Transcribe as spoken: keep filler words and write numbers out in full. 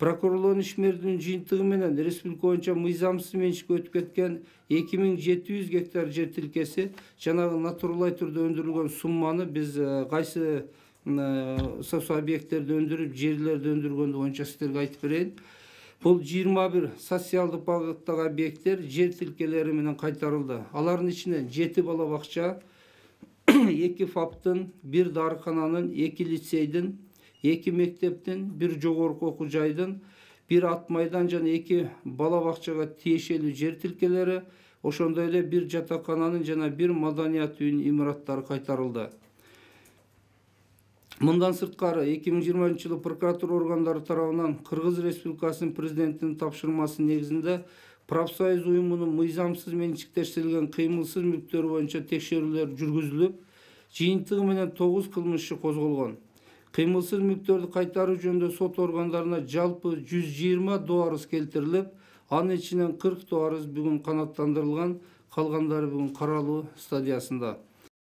Прокурорлордун ишмердин жыйынтыгы менен республика боюнча мыйзамсыз менчикке өтүп кеткен эки миң жети жүз гектар жер тилкеси жанагы натуралдуу түрдө өндүрүлгөн сумманы биз кайсы сосо объекттерди өндүрүп, жерлерди өндүргөндү боюнча сиздерге айтып берейин. Бул жыйырма бир социалдык багыттагы объекттер жер тилкелери менен кайтарылды. Алардын ичинен жети бала бакча, эки фаптын, бир дарыкананын, эки лицейдин, эки мектептин, бир жогорку окуу жайдын, бир ат майдан жана эки бала бакчага тиешелүү жер тилкелери, ошондой эле бир жатакананын жана бир маданият үйүнүн имараттары кайтарылды. Мындан сырткары эки миң жыйырманчы жылы прокуратура органдары тарабынан Кыргыз Республикасынын президентинин тапшырмасы негизинде профсоюз уюмунун мыйзамсыз менчиктештирилген кыймылсыз мүлктөрү боюнча текшерүүлөр жүргүзүлүп, жыйынтыгы менен тогуз кылмыш иши козголгон. Кыймылсыз мүлктөрдү кайтаруу жөнүндө сот органдарына жалпы жүз жыйырма доо арыз келтирилип, анын ичинен кырк доо арыз бүгүн канааттандырылган, калгандары бүгүн каралуу стадиясында.